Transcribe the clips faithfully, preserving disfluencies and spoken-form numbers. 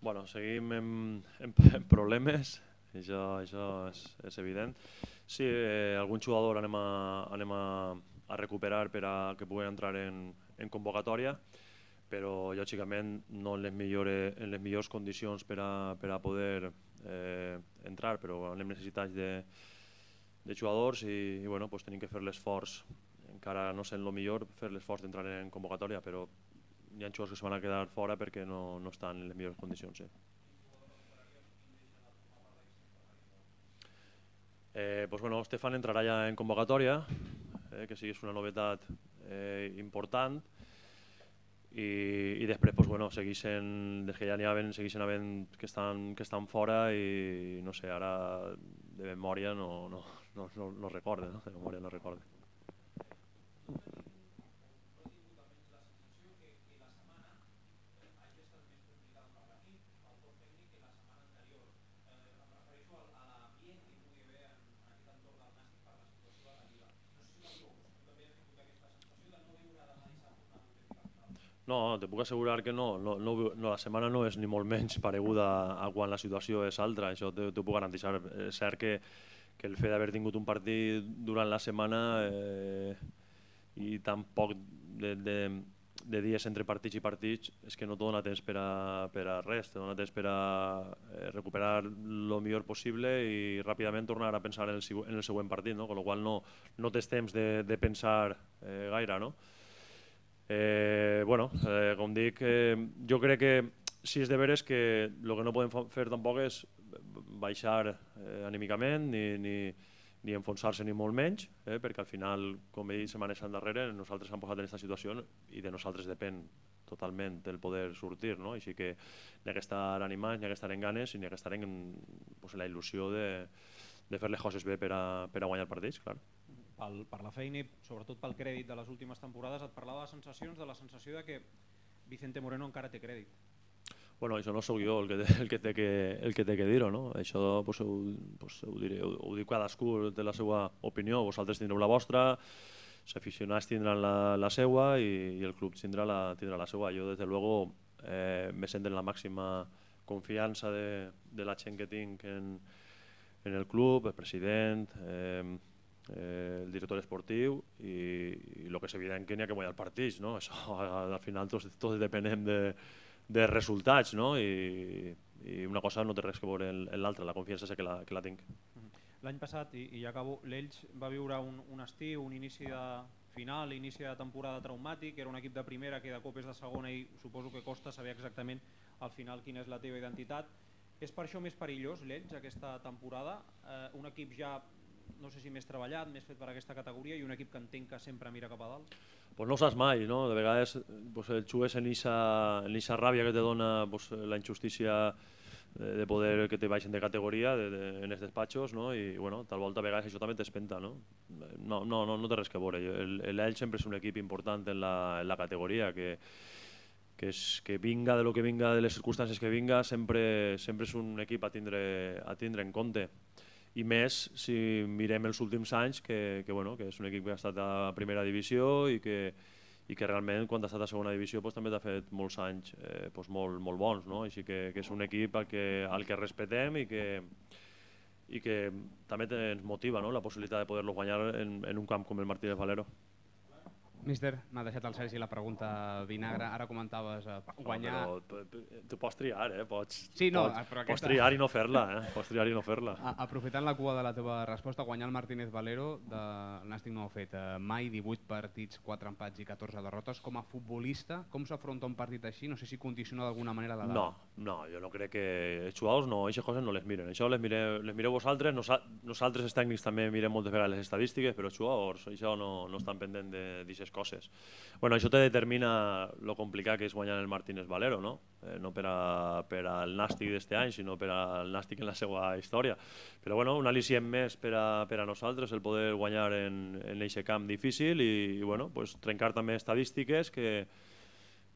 Bueno, seguim en, en, en problemes, això, això és, és evident. Sí, eh, algun jugador anem, a, anem a, a recuperar per a que puguen entrar en, en convocatòria, però lògicament no en les, millores, en les millors condicions per a, per a poder eh, entrar, però anem necessitats de, de jugadors i, i bueno, pues tenim que fer l'esforç, encara no sent el millor, fer l'esforç d'entrar en convocatòria, però hi ha jugadors que se van a quedar fora perquè no, no estan en les millors condicions. Sí. Eh, pues bueno, Stefan entrarà ja en convocatòria, eh, que sí és una novetat eh, important, i, i després pues bueno, segueixen, des que ja n'hi havien, segueixen havent que estan, que estan fora i no sé, ara de memòria no, no, no, no, no recorde, no? De memòria no recorde. No, te puc assegurar que no, no, no, no, la setmana no és ni molt menys pareguda a quan la situació és altra, això t'ho puc garantir. És cert que, que el fet d'haver tingut un partit durant la setmana eh, i tan poc de, de, de dies entre partits i partits és que no te dona temps per a, per a res, te dona temps per a eh, recuperar el millor possible i ràpidament tornar a pensar en el, en el següent partit, no? Con la qual no, no tens temps de, de pensar eh, gaire, no? Eh, bueno, eh, com dic, eh, jo crec que si és de veres que el que no podem fer tampoc és baixar eh, anímicament ni, ni, ni enfonsar-se ni molt menys, eh, perquè al final, com he dit setmanes endarrere, nosaltres hem posat en aquesta situació i de nosaltres depèn totalment el poder sortir, no? Així que n'hi ha que estar animats, n'hi ha que estar en ganes i n'hi ha que estar en, pues, en la il·lusió de, de fer les coses bé per a, per a guanyar partits, clar. Pel, per la feina i sobretot pel crèdit de les últimes temporades, et parlava de sensacions, de la sensació de que Vicente Moreno encara té crèdit. Bueno, això no sóc jo el que, el que té que, el que, té que dir-ho, no? Això pues, ho, pues, ho, diré, ho, ho diu cadascú té la seva opinió, vosaltres tindreu la vostra, els aficionats tindran la, la seva i, i el club tindrà la, tindrà la seva. Jo, des de luego, eh, me sento en la màxima confiança de, de la gent que tinc en, en el club, el president, eh, Eh, el director esportiu i, i el que és evident que n'hi ha que guanyar partits, no? Això, al final tots, tots depenem de, de resultats, no? I, i una cosa no té res que veure en l'altra, la confiança és que la, que la tinc. L'any passat, i, i ja acabo, l'Elx va viure un, un estiu, un inici de final, inici de temporada traumàtic, era un equip de primera que de cop és de segona i suposo que costa saber exactament al final quina és la teva identitat. És per això més perillós l'Elx aquesta temporada? Eh, un equip ja no sé si més treballat, més fet per aquesta categoria i un equip que entenc que sempre mira cap a dalt? Pues no ho saps mai, no? De vegades pues, el jugues en aquesta ràbia que te dona pues, la injustícia de, de poder que te baixen de categoria de, de, en els despatxos, no? I bueno, tal volta a vegades això també t'espenta, no? No, no, no, no té res que veure. L'Elx sempre és un equip important en la, en la categoria, que, que, és, que vinga de lo que vinga, de les circumstàncies que vinga, sempre, sempre és un equip a tindre, a tindre en compte. I més si mirem els últims anys, que, que, bueno, que és un equip que ha estat a primera divisió i que, i que realment quan ha estat a segona divisió pues, també ha fet molts anys eh, pues, molt, molt bons, no? Així que, que és un equip al que, al que respetem i que, i que també ens motiva, no? La possibilitat de poder-lo guanyar en, en un camp com el Martínez Valero. Míster, m'ha deixat el Sergi la pregunta vinagre, ara comentaves eh, guanyar... No, però tu pots triar, eh? Pots, sí, no, pots, però aquesta... pots triar i no fer-la, eh? Pots triar i no fer-la. Aprofitant la cua de la teva resposta, guanyar el Martínez Valero, de... el Nàstic no ho ha fet eh, mai, divuit partits, quatre empats i catorze derrotes. Com a futbolista, com s'afronta un partit així? No sé si condiciona d'alguna manera la dada. No, no, jo no crec que... Els jugadors no, aquestes coses no les miren. Això les mireu, les mireu vosaltres, nosaltres els tècnics també mirem moltes vegades les estadístiques, però els jugadors això no, no estan pendents d'aquestes coses. Bueno, això te determina lo complicat que és guanyar el Martínez Valero, no? Eh, no per, a, per al Nàstic d'este any, sinó per al Nàstic en la seva història. Però bueno, un al·licient més per a, per a nosaltres el poder guanyar en aquest camp difícil i, i bueno, pues, trencar també estadístiques que,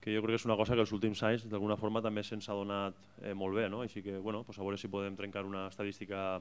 que jo crec que és una cosa que els últims anys d'alguna forma també se'ns ha donat eh, molt bé, no? Així que bueno, pues, a veure si podem trencar una estadística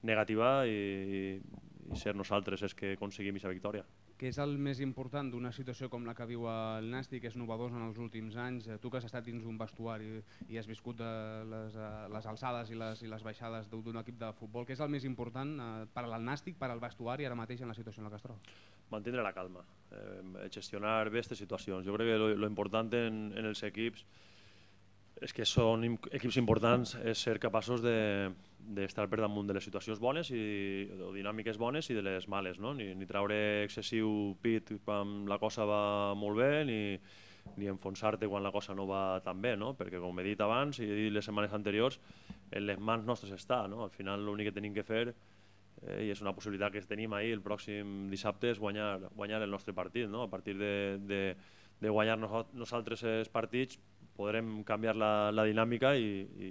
negativa i, i ser nosaltres els que aconseguim aquesta victòria. què és el més important d'una situació com la que viu el Nàstic, que és novedosa en els últims anys? Tu que has estat dins un vestuari i has viscut les, les alçades i les, i les baixades d'un equip de futbol, què és el més important per al Nàstic, per al vestuari, ara mateix en la situació en la que es troba? Mantindre la calma, eh, gestionar bé aquestes situacions. Jo crec que lo, lo important en, en els equips és que són equips importants és ser capaços d'estar de, per damunt de les situacions bones i, o dinàmiques bones i de les males, no? Ni, ni traure excessiu pit quan la cosa va molt bé, ni, ni enfonsar-te quan la cosa no va tan bé, no? Perquè com he dit abans i he dit les setmanes anteriors, en les mans nostres està, no? Al final l'únic que tenim que fer, eh, i és una possibilitat que tenim ahir el pròxim dissabte, és guanyar, guanyar el nostre partit, no? A partir de, de, de guanyar nosaltres els partits podrem canviar la, la dinàmica i, i,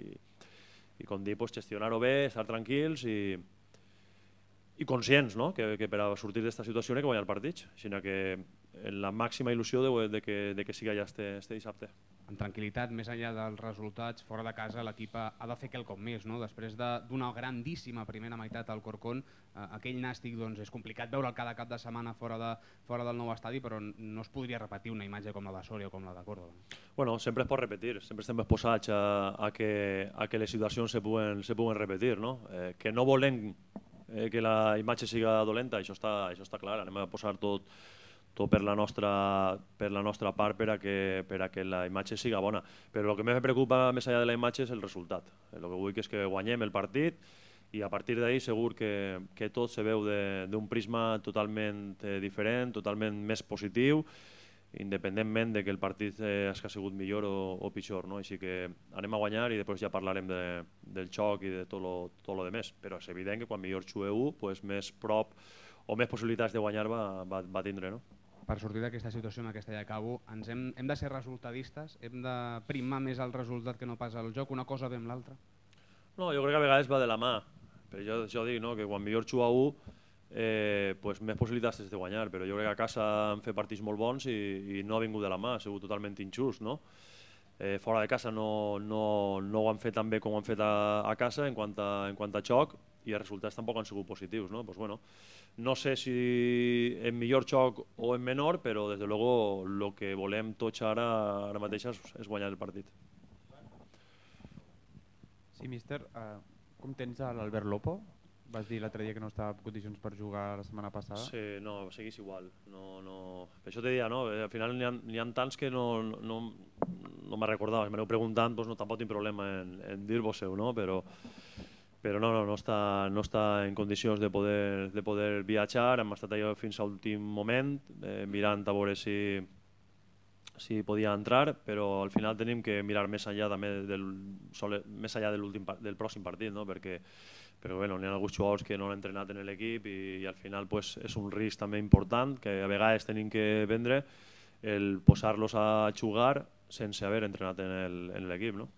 i com dir, pues, gestionar-ho bé, estar tranquils i, i conscients, no? que, que per a sortir d'aquesta situació hi ha que guanyar partits. Així que en la màxima il·lusió de, de, que, de que siga ja este, este dissabte. En tranquil·litat, més enllà dels resultats, fora de casa l'equip ha de fer quelcom més, no? Després d'una grandíssima primera meitat al Corcón, eh, aquell Nàstic doncs, és complicat veure'l cada cap de setmana fora, de, fora del nou estadi, però no es podria repetir una imatge com la de Sòria o com la de Córdoba. Bueno, sempre es pot repetir, sempre estem exposats a, a, que, a que les situacions se puguen, se puguen repetir, no? Eh, que no volem eh, que la imatge siga dolenta, això està, això està clar, anem a posar tot tot per la nostra, per la nostra part per a, que, per a que la imatge siga bona. Però el que més me preocupa més enllà de la imatge és el resultat. El que vull és que guanyem el partit i a partir d'ahir segur que, que tot se veu d'un prisma totalment eh, diferent, totalment més positiu, independentment de que el partit eh, hagi sigut millor o, o pitjor. No? Així que anem a guanyar i després ja parlarem de, del xoc i de tot lo, tot lo demés. Però és evident que quan millor xueu, pues, més prop o més possibilitats de guanyar va, va, va tindre. No? Per sortir d'aquesta situació en aquesta ja acabo, ens hem, hem de ser resultadistes? Hem de primar més el resultat que no pas el joc? Una cosa ve amb l'altra? No, jo crec que a vegades va de la mà. Però jo, jo dic no, que quan millor juga u, eh, pues més possibilitats és de guanyar, però jo crec que a casa han fet partits molt bons i, i no ha vingut de la mà, ha sigut totalment injust. No? Eh, fora de casa no, no, no ho han fet tan bé com ho han fet a, a casa en quant a, en quant a xoc, i els resultats tampoc han sigut positius. No? Pues bueno, no sé si en millor xoc o en menor, però des de luego el que volem tots ara, ara mateix és, és guanyar el partit. Sí, míster, uh, com tens l'Albert Lopo? Vas dir l'altre dia que no estava en condicions per jugar la setmana passada. Sí, no, seguís igual. No, no... Per això te deia, no? Al final n'hi ha, ha tants que no, no, no me recordava. Si m'aneu preguntant, doncs no, tampoc tinc problema en, en dir-vos-ho, no? Però, però no, no, no, està, no està en condicions de poder, de poder viatjar. Hem estat allà fins a l'últim moment, eh, mirant a veure si, si podia entrar, però al final tenim que mirar més enllà, també del, més enllà de del pròxim partit, no? Perquè però bueno, n'hi ha alguns jugadors que no han entrenat en l'equip i, i al final pues, és un risc també important que a vegades tenim que vendre el posar-los a jugar sense haver entrenat en l'equip. No?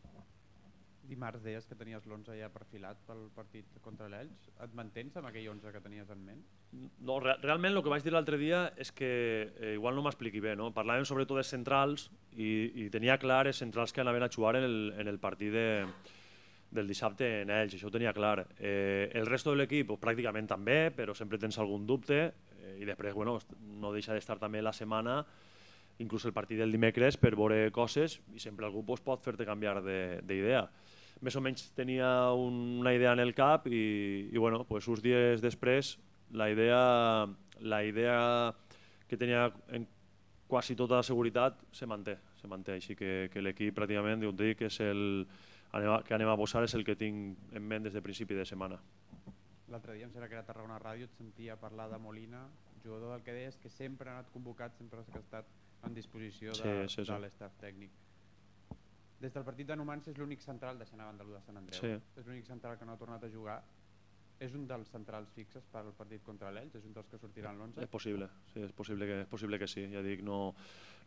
Dimarts deies que tenies l'onze ja perfilat pel partit contra l'Elx. Et mantens amb aquell onze que tenies en ment? No, re realment el que vaig dir l'altre dia és que eh, igual no m'expliqui bé. No? Parlàvem sobretot de centrals i, i tenia clar els centrals que anaven a jugar en el, en el partit de del dissabte en ells, això ho tenia clar. Eh, el resto de l'equip pràcticament també, però sempre tens algun dubte eh, i després bueno, no deixa d'estar també la setmana, inclús el partit del dimecres, per veure coses i sempre algú pues, pot fer-te canviar d'idea. Més o menys tenia un, una idea en el cap i, i bueno, pues, uns dies després la idea, la idea que tenia en quasi tota la seguretat se manté, se manté. Així que, que l'equip pràcticament, dic, dic, és el que anem a posar és el que tinc en ment des de principi de setmana. L'altre dia em sembla que era a Tarragona Ràdio, et sentia parlar de Molina, jugador del que deies que sempre ha anat convocat, sempre ha estat en disposició de, sí, sí, sí. de l'estaf tècnic. Des del partit de Numancia és l'únic central, deixant a banda el de Sant Andreu, sí. És l'únic central que no ha tornat a jugar. És un dels centrals fixes per al partit contra l'Elx? És un dels que sortiran l'onze? És possible, sí, és possible que, és possible que sí. Ja dic, no,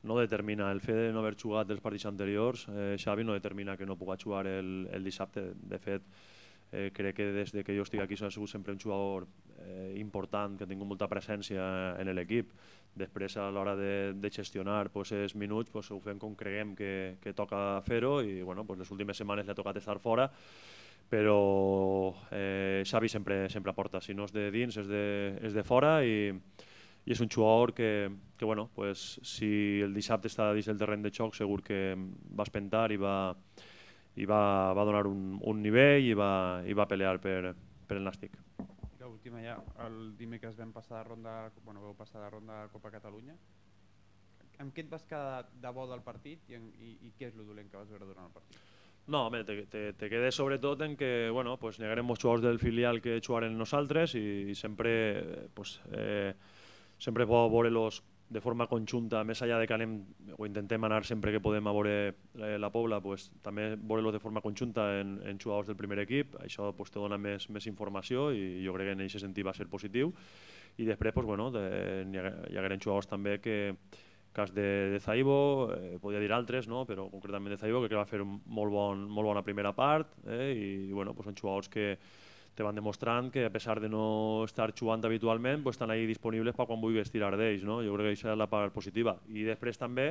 no determina el fet de no haver jugat els partits anteriors. Eh, Xavi no determina que no pugui jugar el, el dissabte. De fet, eh, crec que des de que jo estic aquí ha sigut sempre un jugador eh, important, que ha tingut molta presència en l'equip. Després, a l'hora de, de gestionar pues, els minuts, pues, ho fem com creguem que, que toca fer-ho i bueno, pues, les últimes setmanes li ha tocat estar fora, però eh, Xavi sempre, sempre aporta, si no és de dins és de, és de fora i, i és un jugador que, que bueno, pues, si el dissabte està dins el terreny de xoc segur que va espentar i va, i va, va donar un, un nivell i va, i va pelear per, per el Nàstic. I l'última ja, el dimecres vam passar de ronda, bueno, vau passar de ronda a Copa Catalunya. Amb què et vas quedar de bo del partit i, i, i què és el dolent que vas veure durant el partit? No, home, te, te, te quedes sobretot en que, bueno, pues negarem els jugadors del filial que jugaren nosaltres i, i sempre, pues, eh, sempre pot veure-los de forma conjunta, més enllà de que anem, o intentem anar sempre que podem a veure la, la Pobla, pues, també veure-los de forma conjunta en, en jugadors del primer equip, això pues, te dona més, més informació i jo crec que en aquest sentit va ser positiu. I després, pues, bueno, de, hi hagueren jugadors també que, cas de, de Zaibo, eh, podia dir altres, no? Però concretament de Zaibo, que va fer un molt, bon, molt bona primera part, eh? I, i bueno, pues són jugadors que te van demostrant que a pesar de no estar jugant habitualment, pues estan ahí disponibles per quan vulguis tirar d'ells, no? Jo crec que aquesta és la part positiva. I després també,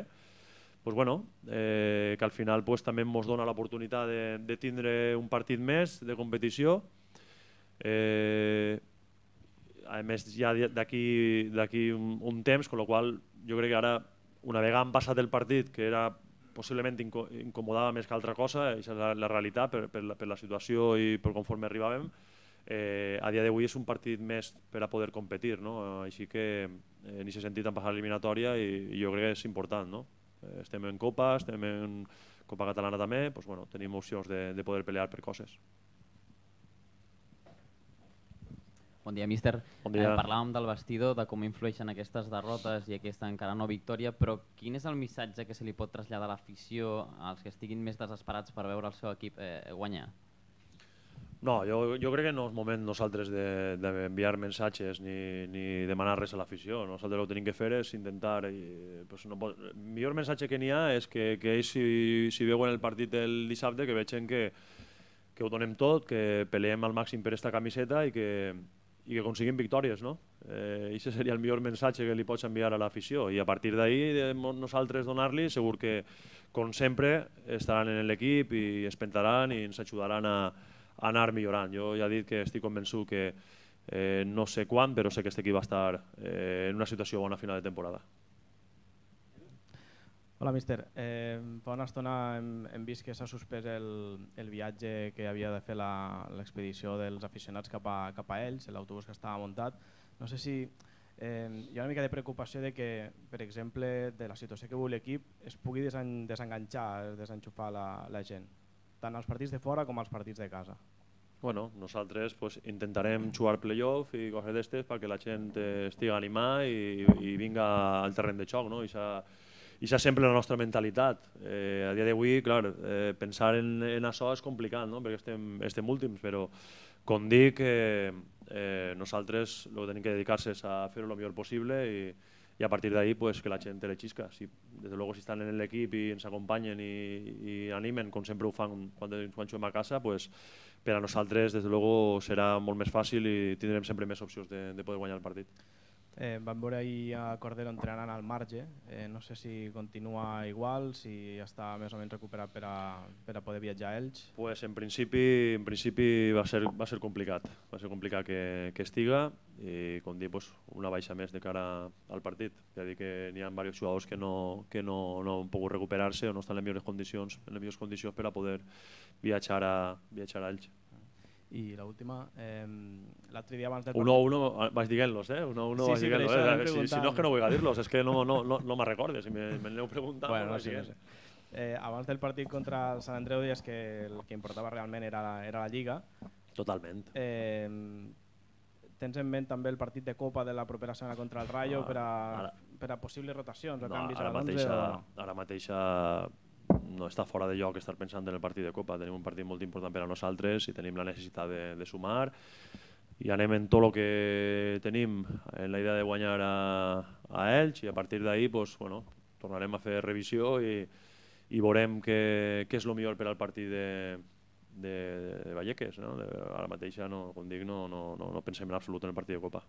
pues bueno, eh, que al final pues, també ens dona l'oportunitat de, de tindre un partit més de competició. Eh, a més, ja d'aquí un, un temps, amb la qual jo crec que ara, una vegada han passat el partit, que era possiblement inco incomodava més que altra cosa, això és la, la realitat per, per, la, per la situació i per conforme arribàvem, eh, a dia d'avui és un partit més per a poder competir, no? Així que eh, en aquest sentit han passat l'eliminatòria i, i jo crec que és important, no? Eh, estem en Copa, estem en Copa Catalana també, doncs, bueno, tenim opcions de, de poder pelear per coses. Bon dia, míster. Bon dia. Eh, parlàvem del vestidor, de com influeixen aquestes derrotes i aquesta encara no victòria, però quin és el missatge que se li pot traslladar a l'afició als que estiguin més desesperats per veure el seu equip eh, guanyar? No, jo, jo crec que no és moment nosaltres d'enviar de, missatges ni, ni demanar res a l'afició. Nosaltres el que tenim que fer és intentar... I, pues no pot, el millor missatge que n'hi ha és que, que ells si, si veuen el partit el dissabte que vegin que, que ho donem tot, que peleem al màxim per esta camiseta i que, i que aconseguim victòries, no? Eh, Això seria el millor missatge que li pots enviar a l'afició i a partir d'ahir nosaltres donar-li segur que, com sempre, estaran en l'equip i es pentaran i ens ajudaran a, a anar millorant. Jo ja he dit que estic convençut que eh, no sé quan, però sé que este equip va estar eh, en una situació bona a final de temporada. Hola, míster. Eh, fa una estona hem, hem vist que s'ha suspès el, el viatge que havia de fer l'expedició dels aficionats cap a, cap a ells, l'autobús que estava muntat. No sé si eh, hi ha una mica de preocupació de que, per exemple, de la situació que viu l'equip es pugui desen, desenganxar, desenxufar la, la gent, tant als partits de fora com als partits de casa. Bueno, nosaltres pues, intentarem jugar playoff i coses d'estes perquè la gent estigui animada i, i vinga al terreny de xoc, no? I I això és sempre la nostra mentalitat. Eh, a dia d'avui, clar, eh, pensar en, en això és complicat, no? Perquè estem, estem últims, però com dic, eh, eh, nosaltres el que tenim que dedicar-se és a fer-ho el millor possible i, i a partir d'ahí pues, que la gent te l'eixisca. Si, des de luego, si estan en l'equip i ens acompanyen i, i animen, com sempre ho fan quan, quan juguem a casa, pues, per a nosaltres des de luego serà molt més fàcil i tindrem sempre més opcions de, de poder guanyar el partit. Eh, vam veure ahir a Cordero entrenant al marge, eh, no sé si continua igual, si està més o menys recuperat per a, per a poder viatjar a Elx. Pues en principi, en principi va, ser, va ser complicat, va ser complicat que, que estiga i com dic, pues, una baixa més de cara al partit. Ja dic que n'hi ha diversos jugadors que no, que no, no han pogut recuperar-se o no estan en les millors condicions, en les millors condicions per a poder viatjar a, viatjar a Elx. I l'última, eh, l'altre dia abans del partit... uno a uno vas dient-los, eh? uno a uno sí, vas sí, dient-los. Eh? Si, si no és que no vull dir-los, és que no, no, no, no me'n recordes, si me, me n'aneu preguntant... Bueno, no sé, no sé. Eh, abans del partit contra el Sant Andreu deies que el que importava realment era la, era la Lliga. Totalment. Eh, tens en ment també el partit de Copa de la propera setmana contra el Rayo ah, per, a, ara, per a possibles rotacions o no, canvis ara a mateixa, no? Ara mateixa no està fora de lloc estar pensant en el partit de Copa. Tenim un partit molt important per a nosaltres i tenim la necessitat de, de sumar i anem en tot el que tenim en la idea de guanyar a, a Elx i a partir d'ahir pues, bueno, tornarem a fer revisió i, i veurem què, què és el millor per al partit de, de, de Vallecas. No? De, ara mateixa, no, com dic, no, no, no, no pensem en absolut en el partit de Copa.